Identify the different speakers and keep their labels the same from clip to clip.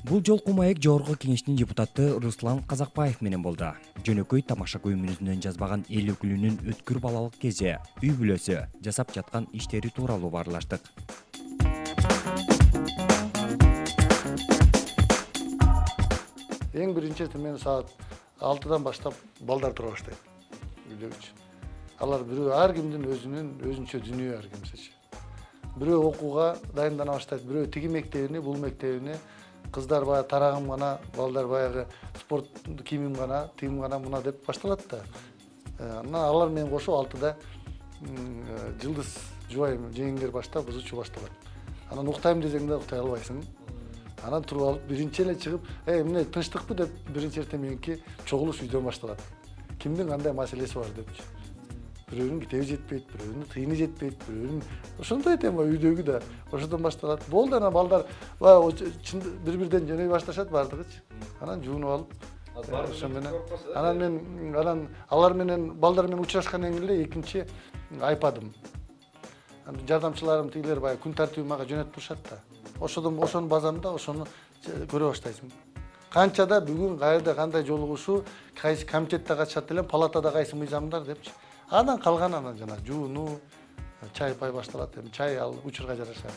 Speaker 1: Бул жолку маек жогорку кеңештин депутаты Руслан Казакбаев менен болду. Жөнөкөй тамаша көймүнүнөн жазбаган эл өкүлүнүн өткүр балалык кези, үй бүлөсү, жасап жаткан иштери тууралуу баарлаштык.
Speaker 2: Эң биринчи мен саат 6-дан баштап балдар тура баштайт. Үйлөр үчүн. Алар бирөө ар кимдин өзүнчө дүйнө ар кимсечи. Бирөө окууга дайындана баштайт, бирөө тиги мектебине, бул мектебине, кыздар баягы тарагым гана, балдар баягы спорт кийимим гана, тигим гана мына деп башталат да. Анан алар менен кошо 6-да жылдыз жубайым жеңдер баштап, ызычуу башталат. Анан уктайм десең да уктай албайсың. Анан туруп алып биринчи эле чыгып, эмне тынчтыкпы деп биринчи эртең чогулуш үйдөн башталат. Кимдин кандай маселеси бар депчи. Бирөөнүн китеби жетпейт, бирөөнүн тыйыны жетпейт, бирөөнүн ошондой тема үйдөгү да ошодон башталат. Болду анан балдар бири-бирден жөнөй башташат бардыгычы. Анан жуунуп алып, ошо менен анан алар менен балдар менен учурашкандан кийин эле экинчи айпадым. Жардамчыларым тигилер баягы күн тартиби мага жөнөтүп турушат да. Ошонун базамда ошону көрө баштайсың. Канчада бүгүн кайерде кандай жолугушуу, кайсы комитетте катышат элем, палатада кайсы мыйзамдар депчи. Анан калган жана жуунуу, чай пай башталат. Чай ал учурга жараша.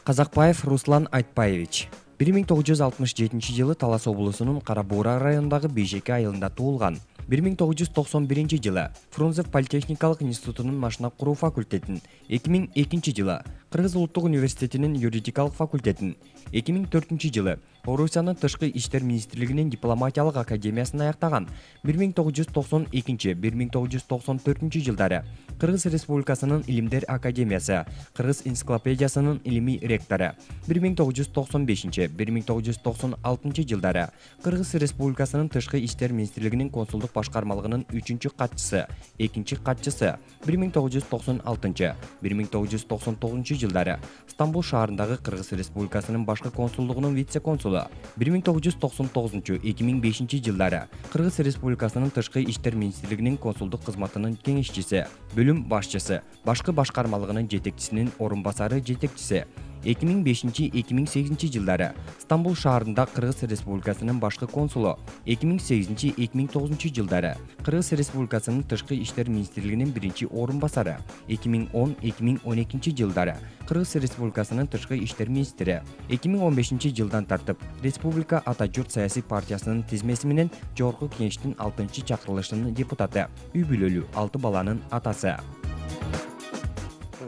Speaker 1: Казакбаев Руслан Айтпаевич 1967-жылы Талас облусунун Кара Буура районундагы Бейшеке айылында туулган. 1991-жылы Фрунзев политехникалык институтунун машина куруу факультетин, 2002-жылы Кыргыз улуттук университетинин юридикалык факультетин, 2004-жылы Орусиянын тышкы иштер министрлигинин дипломатиялык академиясын аяктаган. 1992-1994 жылдары Кыргыз Республикасынын Илимдер академиясы, Кыргыз энциклопедиясынын илимий ректору. 1995-1996 жылдары Кыргыз Республикасынын тышкы иштер министрлигинин консулдук башкармалыгынын 3-катчысы, 2-катчысы. 1996-1999 жылдары Стамбул шаарындагы Кыргыз Республикасынын башкы консулдугунун вице-консулу. 1999-2005 жылдары Кыргыз Республикасынын тышкы иштер министрлигинин консулдук кызматынын кеңешчиси, бөлүм башчысы, башкы башкармалыгынын жетекчисинин орун басары жетекчиси. 2005-2008 жылдары Стамбул шаарында Кыргыз Республикасынын башкы консулу. 2008-2009 жылдары Кыргыз Республикасынын тышкы иштер министрлигинин биринчи орун басары. 2010-2012 жылдары Кыргыз Республикасынын тышкы иштер министри. 2015 жылдан тартып Республика Ата журт саясий партиясынын тизмеси менен жогорку кеңештин 6-чакырылышынын депутаты, үй бүлөлүү 6 баланын атасы.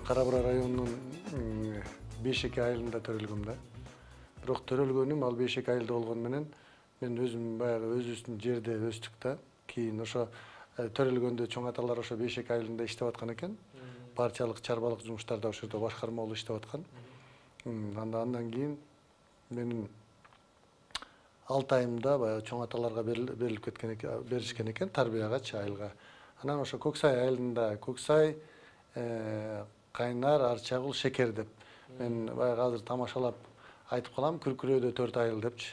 Speaker 2: Кара Буура районунун Бейшеке айылында төрөлгөм да. Бирок төрөлгөнүм ал Бейшеке айылда болгону менен мен өзүм баягы өзүбүздүн жерде өстүк да. Кийин ошо төрөлгөндө чоң аталар ошо Бейшеке айылында иштеп аткан экен. Партиялык чарбалык жумуштарда ошо жерде башкарма болуп иштеп аткан. Андан кийин менин 6 айымда баягы чоң аталарга берилип кеткен экен, беришкен экен тарбиягачы айылга. Анан ошо Көксай айылында Көксай, Кайнар, Арчагул, Шекер деп мен баягы азыр тамашалап айтып калам, Күркүрөөдө 4 айыл депчи.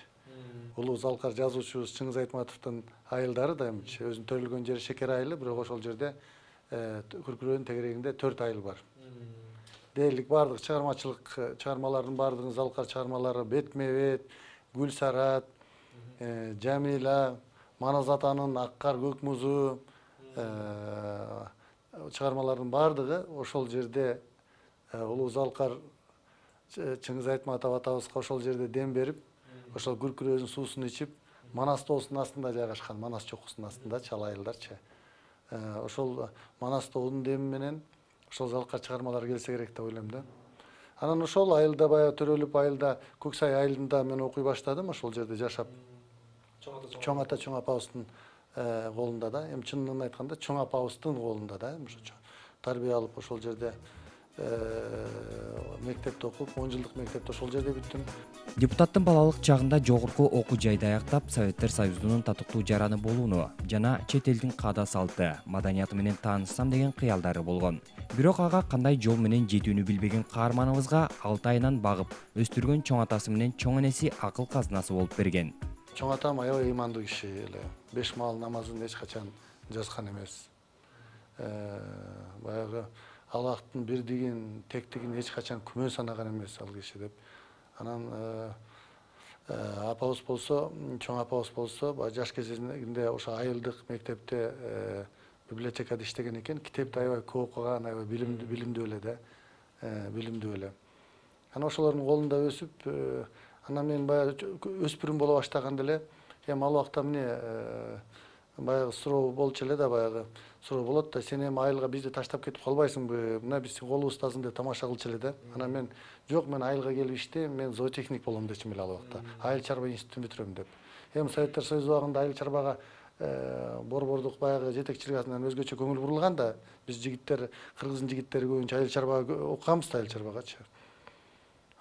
Speaker 2: Улуу Залкар жазуучубуз Чыңгыз Айтматовдун айылдары да эмчи. Өзүнүн төрөлгөн жери Шекер айылы, бирок ошол жерде Күркүрөөнүн тегерегинде 4 айыл бар. Дээрлик бардык чыгармалардын бардыгын Залкар чыгармалары бетме-бет, Гүлсарат, Жамила, Манас атанын Ак кар көк музу чыгармалардын бардыгы ошол жерде Улуу Залкар Чыңгыз Айтматов атабызга ошол жерде дем берип, ошол Күркүрөөнүн суусун ичип, Манас тоосунун астында жайгашкан, Манас чокусунун астында чал айылдарчы. Ошол Манас тоонун деми менен ошол Залкар чыгармалары келсе керек деп ойлойм да. Анан ошол айылда баягы төрөлүп айылда Көксай айылында мен окуй баштадым, ошол жерде жашап. Чоң ата чоң апабыздын колунда да, эми чынын айтканда чоң апабыздын колунда да, ошо тарбия алып ошол жерде мектепте окуп, 10 жылдык мектепти ошол жерде бүттүм.
Speaker 1: Депутаттын балалык чагында жогорку окуу жайды аяктап, Советтер Союзунун татыктуу жараны болууну жана чет элдин каада салты, маданияты менен таанышсам деген кыялдары болгон. Бирок ага кандай жол менен жетүүнү билбеген каарманыбызга 6 айынан багып өстүргөн чоң атасы менен чоң энеси акыл казынасы болуп берген.
Speaker 2: Чоң атам аябай ыймандуу киши эле. 5 маал намазын эч качан жазган эмес. Баягы Аллахтын бирдигин, тектигин эч качан күмөн санаган эмес ал киши деп. Анан апабыз болсо, чоң апабыз болсо, жаш кезинде ошо айылдык мектепте библиотекада иштеген экен. Китепти аябай көп окуган, аябай билимдүү эле да. Билимдүү эле. Анан ошолордун колунда өсүп, анан мен баягы өспүрүм боло баштаганда эле, эми ал убакта эмне баягы суроо болчу эле да, баягы суроо болот да, сен эми айылга бизди таштап кетип калбайсыңбы? Мына биз колубуздасың деп тамаша кылчу эле да. Анан мен жок, мен айылга келип иштейм, мен зоотехник болом дечим эле ал убакта. Айыл чарба институтун бүтүрөм деп. Эми Советтер Союзу убагында айыл чарбага борбордук баягы жетекчилик астынан өзгөчө көңүл бурулган да. Биз жигиттер, кыргыздын жигиттери көбүнчө айыл чарбага окуганбыз да, айыл чарбагачы.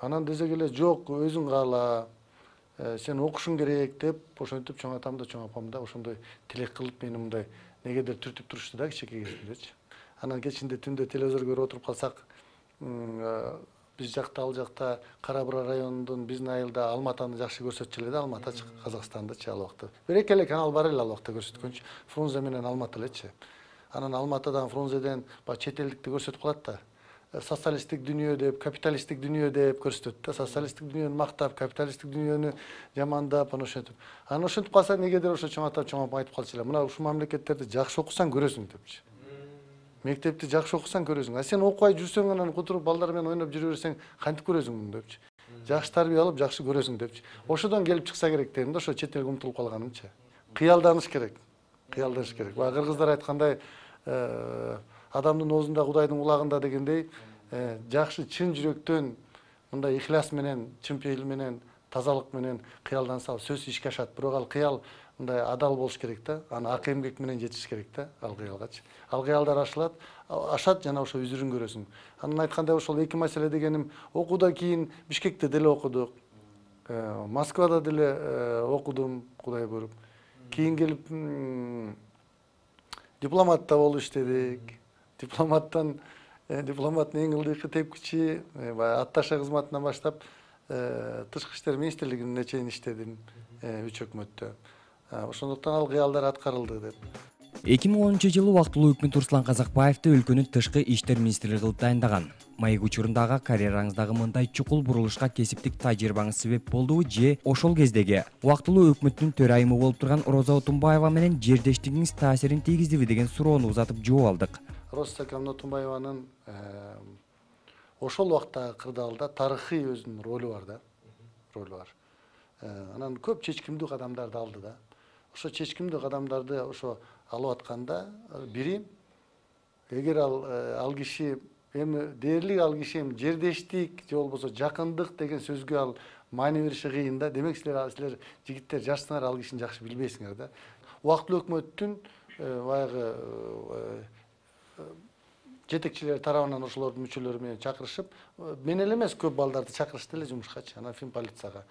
Speaker 2: Анан десек эле жок, өзүң каала, сен окушуң керек деп, ошентип чоң атам да, чоң апам да ошондой тилек кылып мени мындай негедир түртүп турушту да кичинекей кезимдечи. Анан кечинде түндө телевизор көрүп отуруп калсак, биз жакта, ал жакта Кара Бура районунун биздин айылда Алматаны жакшы көрсөтчү эле да, Алмата Казакстандычы ал убакта. Бир эки эле канал бар эле ал убакта көрсөткөнчү, Фрунзе менен Алмата элечи. Анан Алматадан, Фрунзеден чет элдикти көрсөтүп калат да. Социалисттик дүйнө деп, капиталисттик дүйнө деп көрсөтөт да. Социалисттик дүйнөнү мактап, капиталисттик дүйнөнү жамандап, ошентип. Анан ошентип калса, негедир ошо чоң ата, чоң апам айтып калчу эле, мына ушул мамлекеттерди жакшы окусаң көрөсүң депчи. Мектепти жакшы окусаң көрөсүң. А сен окубай жүрсөң, анан отуруп балдар менен ойноп жүрө берсең, кантип көрөсүң муну депчи. Жакшы тарбия алып, жакшы көрөсүң депчи. Ошодон келип чыкса керек дедим да, ошо чет элге умтулуп калганымчы. Кыялданыш керек. Кыялданыш керек. Баягы кыргыздар айткандай, адамдын оозунда Кудайдын кулагында дегендей, жакшы чын жүрөктөн мындай ихляс менен, чын пейил менен, тазалык менен кыялданса, сөзсүз ишке ашат. Бирок ал кыял мындай адал болуш керек да. Аны ак эмгек менен жетиш керек да, ал кыялгачы. Ал кыялдар ашат жана ошо үзүрүн көрөсүң. Анан айткандай ошол эки маселе дегеним, окуудан кийин Бишкекте деле окудук. Москвада деле окудум, Кудай буйруп. Кийин келип дипломатта болуп иштедик. Дипломаттын эң ылдыйкы тепкичи, атташе кызматынан баштап Тышкы иштер министрлигине чейин иштедим, 3 өкмөттө. Ошондуктан ал кыялдар аткарылды деп.
Speaker 1: 2010-жылы убактылуу өкмөт Руслан Казакбаевди өлкөнүн тышкы иштер министри кылып дайындаган. Маек учурундагы карьераңыздагы мындай чукул бурулушка кесиптик тажрыйбаңыз себеп болдубу же ошол кездеги убактылуу өкмөттүн төрайымы болуп турган Роза Отунбаева менен жердештигиңиз таасирин тийгиздиби деген суроону узатып жооп алдык.
Speaker 2: Роза Стакановна Отунбаеванын ошол убактагы кырдаалда тарыхый өзүнүн ролу бар да. Ролу бар. Анан көп чечкимдүү кадамдарды алды да. Ошо чечкимдүү кадамдарды ошо алып атканда бири, эгер ал киши эми дээрлик, ал киши эми жердештик же болбосо жакындык деген сөзгө ал маани бериши кыйын да. Демек силер жигиттер жашсыңар, ал кишини жакшы билбейсиңер да. Убактылуу өкмөттүн баягы жетекчилери тарабынан ошолордун мүчөлөрү менен чакырышып, мен эле эмес, көп балдарды чакырышты эле жумушкачы, анан Финполицияга.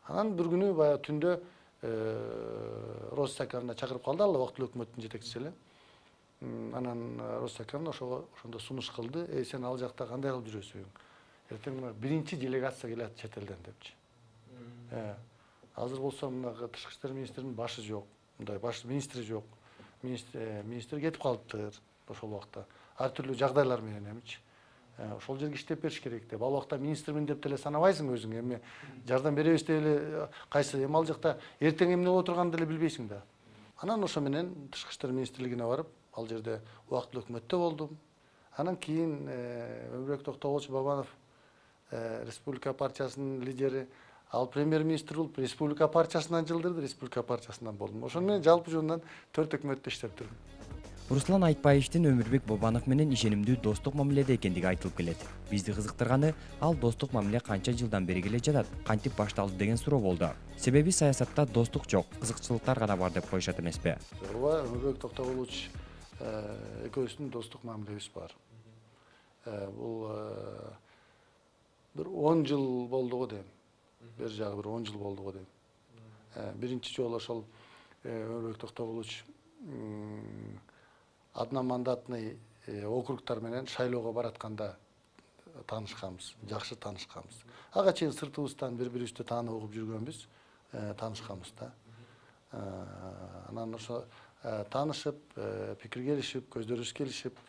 Speaker 2: Анан бир күнү баягы түндө Роза Стакановна чакырып калды, ал убактылуу өкмөттүн жетекчиси эле. Анан Роза Стакановна ошондо сунуш кылды, сен ал жакта кандай кылып жүрөсүң? Эртең биринчи делегация келет чет элден депчи. Азыр болсо мына Тышкы иштер министринин башы жок, мындай баш министри жок. Министр кетип калыптыр ошол убакта. Ар түрлүү жагдайлар менен эмичи. Ошол жерге иштеп бериш керек деп. Ал убакта министрмин деп деле санабайсың өзүң, эми жардам беребиз деп эле кайсы эми ал жакта эртең эмне боло турганын деле билбейсиң да. Анан ошо менен Тышкы иштер министрлигине барып, ал жерде убактылуу өкмөттө болдум. Анан кийин Өмүрбек Токтоболчу Бабанов, Республика партиясынын лидери, ал премьер-министр болуп, Республика партиясынан жылдырды, Республика партиясынан болдум. Ошону менен жалпы жонунан 4 өкмөттө иштеп турдум.
Speaker 1: Руслан Айтбаевдин Өмүрбек Бабанов менен ишенимдүү достук мамиледе экендиги айтылып келет. Бизди кызыктырганы, ал достук мамиле канча жылдан бери келе жатат, кантип башталды деген суроо болду. Себеби саясатта достук жок, кызыкчылыктар гана бар деп коюшат эмеспи?
Speaker 2: Ооба, Өмүрбек Токтоболович экөөбүздүн достук мамилебиз бар. Бул бир 10 жыл болду го дейм. Бер жагы бир 10 жыл болду го дейм. Биринчи жолу ошол Өмүрбек Токтоболович одномандатный округтар менен шайлоого баратканда таанышканбыз, жакшы таанышканбыз. Ага чейин сыртыбыздан бири-бирибизди таанып угуп жүргөнбүз, таанышканбыз да. Анан ошо таанышып, пикир келишип, көздөбүз келишип,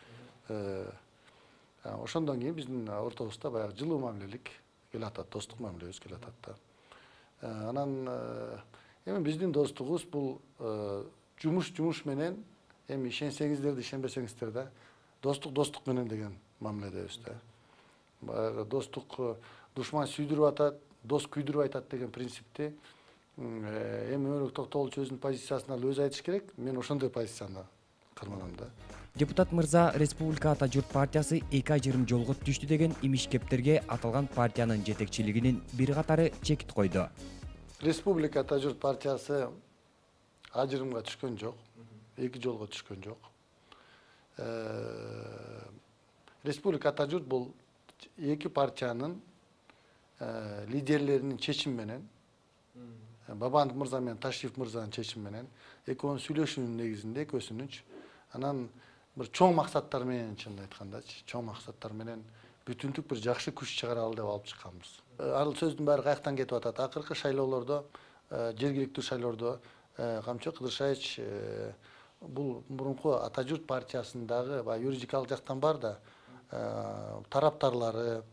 Speaker 2: Ошондон кийин биздин ортобузда баягы жылуу мамилелик келатат, достук мамилебиз келатат да. Анан эми биздин достугубуз бул жумуш менен, эми ишенсеңиздер да ишенбесеңиздер да достук менен деген мамиледебиз да. Баягы достук душман сүйдүрүп атат, дос күйдүрүп айтат деген принципти эми Өмүрбек Токтогулович өзүнүн позициясын алып өзү айтыш керек. Мен ошондой позицияны карманам да.
Speaker 1: Депутат мырза Республика Ата Журт партиясы 2 ажырым жолго түштү деген имиш-кептерге аталган партиянын жетекчилигинин бир катары чекит койду.
Speaker 2: Республика Ата Журт партиясы ажырымга түшкөн жок, 2 жолго түшкөн жок. Республика Ата Журт бул 2 партиянын лидерлеринин чечими менен, Бабанов мырза менен Ташиев мырзанын чечими менен, экөөнүн сүйлөшүүнүн негизинде экөөсүнүн анан бир чоң максаттар менен, чынын айткандачы, чоң максаттар менен бүтүндүк бир жакшы күч чыгаралы деп алып чыкканбыз. Ал сөздүн баары каяктан кетип атат? Акыркы шайлоолордо, жергиликтүү шайлоодо Камчы Кыдыршаевич бул мурунку Ата Журт партиясындагы юридикалык жактан бар да тараптарлары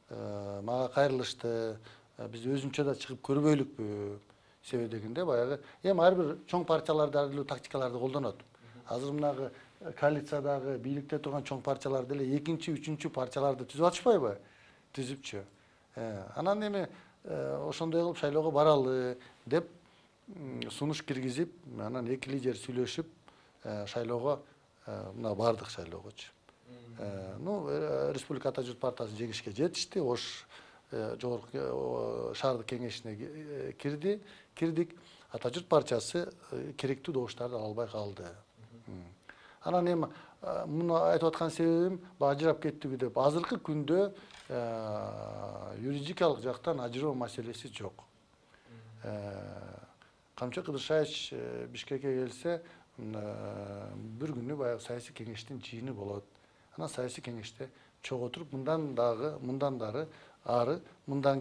Speaker 2: мага кайрылышты, биз өзүнчө да чыгып көрбөйлүкпү себеби дегенде баягы эми ар бир чоң партиялар ар эле тактикаларды колдонот. Азыр мынагы коалициядагы бийликте турган чоң партиялар деле 2-чи, 3-чү партияларды түзүп атышпайбы? Түзүпчү. Анан эми ошондой кылып шайлоого баралы деп сунуш киргизип, анан 2 лидер сүйлөшүп шайлоого мына бардык шайлоогочу. Республика Ата Журт партиясы жеңишке жетишти. Ош жогорку шаардык кеңешине кирдик. Ата Журт партиясы керектүү добуштарды ала албай калды. Анан эми муну айтып аткан себебим ажырап кеттиби деп. Азыркы күндө юридикалык жактан ажыроо маселеси жок. Камчы Кыдыршаевич Бишкекке келсе, бир күнү баягы саясий кеңештин жыйыны болот. Анан саясий кеңеште чогултуруп мындан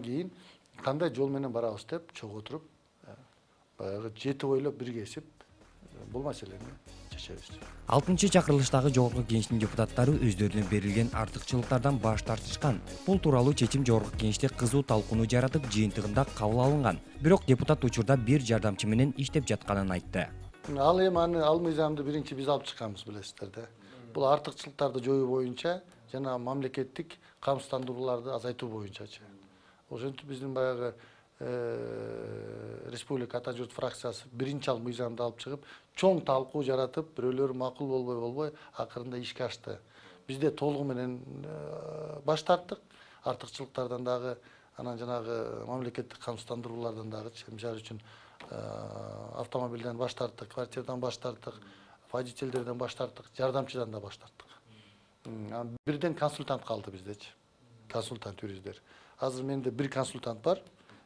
Speaker 2: кийин кандай жол менен барабыз деп чогултуруп баягы жети ойлоп биргесип бул маселени чечебиз.
Speaker 1: 6-чакырылыштагы жогорку кеңештин депутаттары өздөрүнө берилген артыкчылыктардан баш тартышкан. Бул тууралуу чечим жогорку кеңеште кызуу талкууну жаратып, жыйынтыгында кабыл алынган. Бирок депутат учурда бир жардамчы менен иштеп жатканын айтты.
Speaker 2: Ал эми ал мыйзамды биринчи биз алып чыкканбыз, билесиздер да. Бул артыкчылыктарды жоюу боюнча жана мамлекеттик камсыздандырууларды азайтуу боюнчачы. Ошентип биздин баягы Республика Ата Журт фракциясы биринчи ал мыйзамды алып чыгып, чоң талкуу жаратып, бирөөлөр макул болбой акырында ишке ашты. Бизде толугу менен баш тарттык, артыкчылыктардан дагы, анан жанагы мамлекеттик камсыздандыруулардан дагы, мисалы үчүн автомобилден баш тарттык, квартирадан баш тарттык, водительдерден баш тарттык, жардамчыдан да баш тарттык. Бирден консультант калды биздечи. Консультант юристтер. Азыр менде бир консультант бар.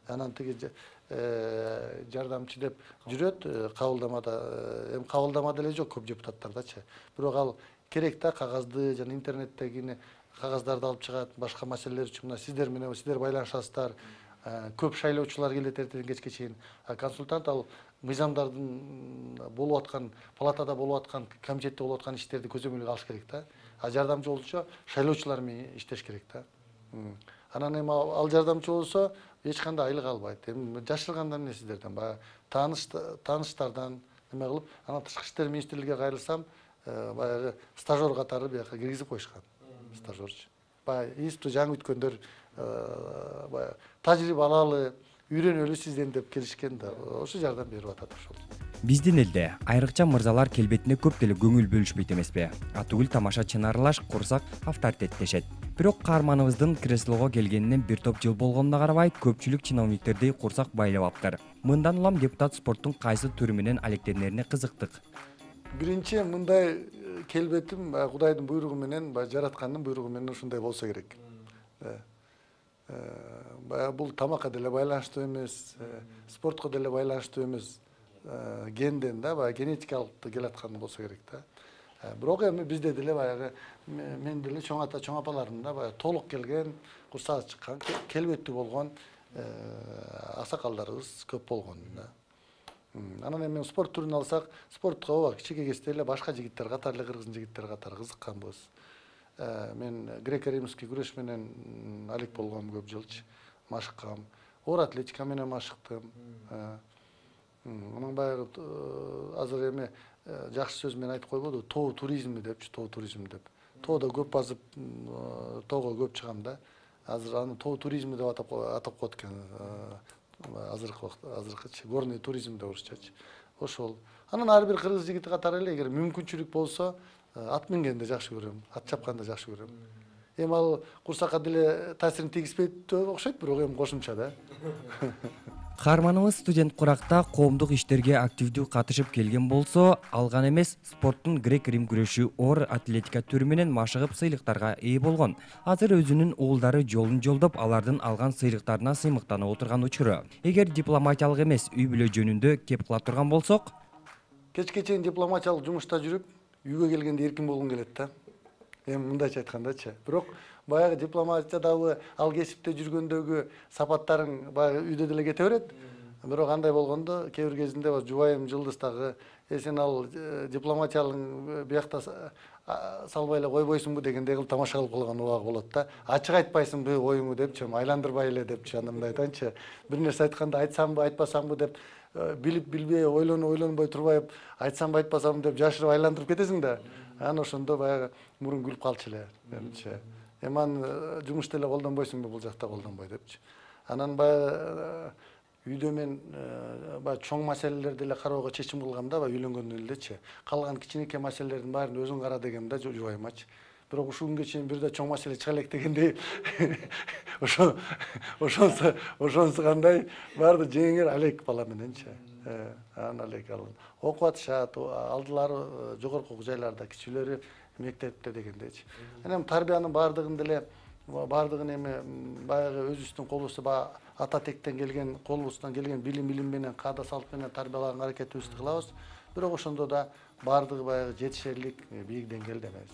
Speaker 2: Анан тиги жардамчы деп жүрөт кабылдамада. Эми кабылдамада эле жок көп депутаттардачы. Бирок ал керек да кагазды жана интернеттеги кагаздарды алып чыгат, башка маселелер үчүн мына сиздер менен сиздер байланышасыздар. Көп шайлоочулар келет эртеден кечке чейин. Консультант ал мыйзамдардын болуп аткан, палатада болуп аткан, комитетте болуп аткан иштерди көзөмөлгө алыш керек да. Жардамчы болчу шайлоочулар менен иштеш керек да. Анан эми ал жардамчы болсо эч кандай айлык албайт. Эми жашырганда эмне сиздерден баягы тааныштардан неме кылып, анан тышкы иштер министрлигине кайрылсам, баягы стажер катары бияка киргизип коюшкан. Стажерчу. Баягы институту жаңы бүткөндөр баягы тажрыйба алалы, үйрөнөлү сизден деп келишкен да. Ошо жардам берип атат ошол.
Speaker 1: Биздин элде айрыкча мырзалар келбетине көп деле көңүл бөлүшпөйт эмеспи? Атүгүл тамаша чынарылаш курсак авторитеттешет. Бирок каарманыбыздын креслого келгенине бир топ жыл болгонуна карабай, көпчүлүк чиновниктерди курсак байлап аптыр. Мындан улам депутат спорттун кайсы түрү менен алектенерине кызыктык.
Speaker 2: Биринчи мындай келбетим Кудайдын буйругу менен, жараткандын буйругу менен ушундай болсо керек. Бул тамакка деле байланыштуу эмес, спортко деле байланыштуу эмес. Генден да, генетикалык келаткан болсо керек да. Бирок эми бизде деле баягы мен деле чоң ата, чоң апаларым да баягы толук келген, курсагы чыккан, келбеттүү болгон аксакалдарыбыз көп болгон да. Анан эми спорт түрүн алсак, спортко кичине кезде эле башка жигиттер катары эле кыргыз жигиттери катары кызыкканбыз. мен греко-римский күрөш менен алек болгом көп жылчы, машыккам. Оор атлетика менен машыктым. Анан баягы азыр эме жакшы сөз менен айтып койбоду, тоо туризми депчи, тоо туризм деп. Тоодо көп базып, тоого көп чыгам да. Азыр аны тоо туризми деп атап коет экен. Азыркычы горный туризм деп урушчачы. Ошол. Анан ар бир кыргыз жигити катары эле эгер мүмкүнчүлүк болсо, ат мингенди жакшы көрөм, ат чапканды жакшы көрөм. Эми ал курсакка деле таасирин тийгизбейт окшойт, бирок эми кошумча да.
Speaker 1: Каарманыбыз студент куракта коомдук иштерге активдүү катышып келген болсо, алган эмес спорттун грек-рим күрөшү оор атлетика түрү менен машыгып сыйлыктарга ээ болгон. Азыр өзүнүн уулдары жолун жолдоп, алардын алган сыйлыктарына сыймыктанып отурган учуру. Эгер дипломатиялык эмес, үй бүлө жөнүндө кеп кыла турган болсок,
Speaker 2: кечке чейин дипломатиялык жумушта жүрүп, үйгө келгенде эркин болгум келет да. Эми мындайча айткандачы. Бирок баягы дипломатиядагы ал кесипте жүргөндөгү сапаттарың баягы үйдө деле кете берет. Бирок андай болгондо кээ бир кезинде жубайым Жылдыз дагы сен ал дипломатиялык биякта салбай эле койбойсуңбу дегендей кылып тамаша кылып калган убагы болот да. Ачык айтпайсыңбы оюңду депчи, айландырбай эле депчи, анда мындай айтанчы. Бир нерсе айтканда айтсамбы, айтпасамбы деп билип билбей, ойлонбой турбай айтсамбы, айтпасамбы деп жашырып айландырып кетесиң да. Анан ошондо баягы мурун күлүп калчу эле менимче. Эми аны жумушта эле колдонбойсуңбу, бул жакта колдонбой депчи. Анан баягы үйдө мен баягы чоң маселелерди эле кароого чечим кылгам да, баягы үйлөнгөндөн элечи. Калган кичинекей маселелердин баарын өзүң кара дегем да жубайымачы. Бирок ушул күнгө чейин бир да чоң маселе чыга элек дегендей ошонусу кандай баарды жеңер алек бала мененчи. Анан алек алын. Окуп атышат, алдылары жогорку окуу жайларда, кичүүлөрү мектепте дегендейчи. Анан тарбиянын баардыгын эми баягы өзүбүздүн колубузда баягы ата тектен келген, колубуздан келген билим менен, каада салт менен тарбиялаганга аракетибизди кылабыз. Бирок ошондо да баардыгы баягы жетишерлик бийик деңгээлде эмес.